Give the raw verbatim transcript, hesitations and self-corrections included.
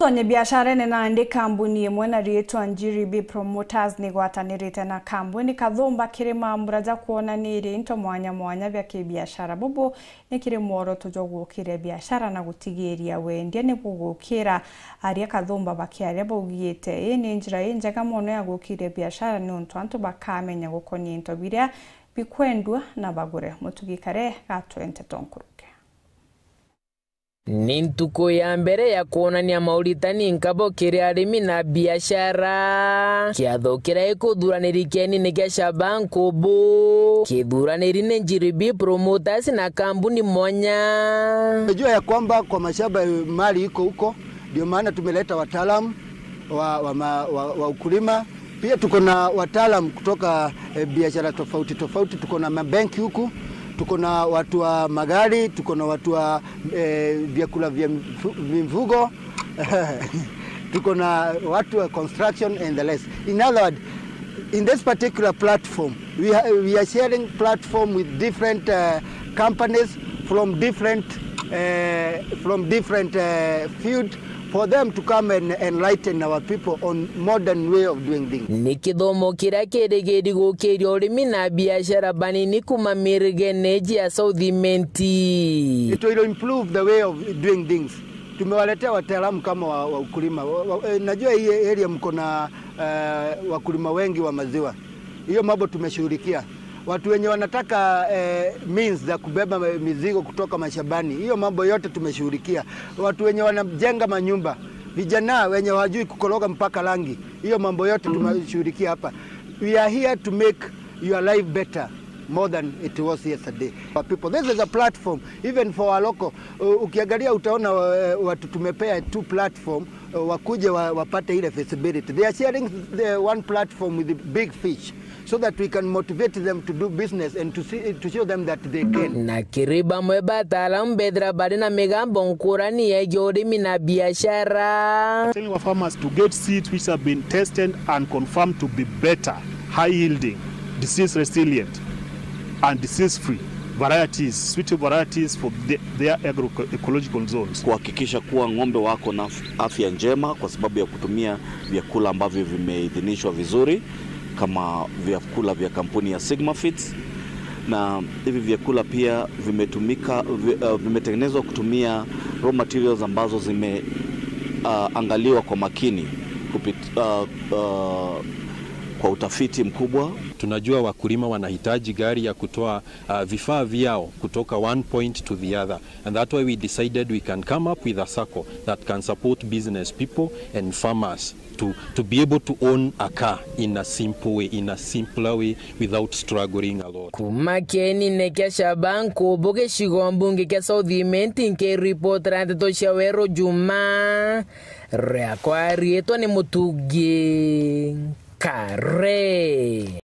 Tonye biasharene nandi, kambuni imwe na riitwa Njiri B Promoters nigwatanirite na kambuni Kathumba kiri mambura ja kwonaniria into mwanya mwanya bia kibiashara. Bubu ni kiri mworoto jwa gukiria biashara na gutigiria wendia ni bugukira. Aria Kathumba bakiaria baugite, ii ni njira injega mono ya gukiria biashara, niuntu antu bakamenya gukonia into biria bikwendua na bagure. Mutugi Kare gatwente tonkuruke. Ni ntuku ya mbere ya kwonania mauritani nkabo kiri arimi na biashara. Kiatho kiria gikuthuraniri kienine kia Shaban Kubu, kithuraniri ni Njiri B Promoters na kambuni mwanya. Najua ya kwamba kwa mashamba mali iko huko, ndio maana tumeleta wataalamu wa, wa, ma- wa, wa ukulima. Pia tuko na wataalam kutoka eh, biashara tofauti tofauti. Tuko na mabenki huku, tuko na watu wa magari, tuko na watu wa eh, vyakula vya mfu- mifugo, tuko na watu wa construction and the rest. In other words, in this particular platform, we, ha- we are sharing platform with different uh, companies from different uh, from different uh, field for them to come and enlighten our people on modern way of doing things. Ni kithomo kiria kirigiri gukiria urimi na biashara banini kuma mirigene iji ya South Imenti. It will improve the way of doing things. Tumewaletea wataalamu kama wa, wa ukulima. Wa, wa, eh, najua hii area mko na eh, wakulima wengi wa maziwa. Hiyo mambo tumeshughulikia. Watu wenye wanataka eh, means za kubeba mizigo kutoka mashambani, hiyo mambo yote tumeshughulikia. Watu wenye wanajenga manyumba, vijana wenye hawajui kukoroga mpaka rangi, hiyo mambo yote tumeshughulikia hapa. We are here to make your life better more than it was yesterday. For people, this is a platform even for our local. U- ukiangalia utaona eh, watu tumepea two platform eh, wakuje wa, wapate ile feasibility. They are sharing the one platform with the big fish so that we can motivate them to do business and to see, to show them that they can. Na kiri bamwe bataalamu bethira bari na migambo nkurani yegii urimi na biashara. Telling our farmers to get seeds which have been tested and confirmed to be better, high yielding, disease resilient, and disease free varieties, suitable varieties for the, their agroecological zones. Kuhakikisha kuwa ng'ombe wako na af- afya njema kwa sababu ya kutumia vyakula ambavyo vimeidhinishwa vizuri kama vyakula vya kampuni ya Sigma Feeds, na hivi vyakula pia vimetumika vi, uh, vimetengenezwa kutumia raw materials ambazo zime uh, angaliwa kwa makini kupit, uh, uh, kwa utafiti mkubwa. Tunajua wakulima wanahitaji gari ya kutoa uh, vifaa vyao kutoka one point to the other, and that's why we decided we can come up with a sacco that can support business people and farmers to, to be able to own a car in a simple way, in a simpler way, without struggling a lot. Kuma kienine kia Shaban Kubu gicigo mbunge kia South Imenti, nkiripotera ndeto cia Weru Juma, riakwa riitwa ni Mutugi Kare.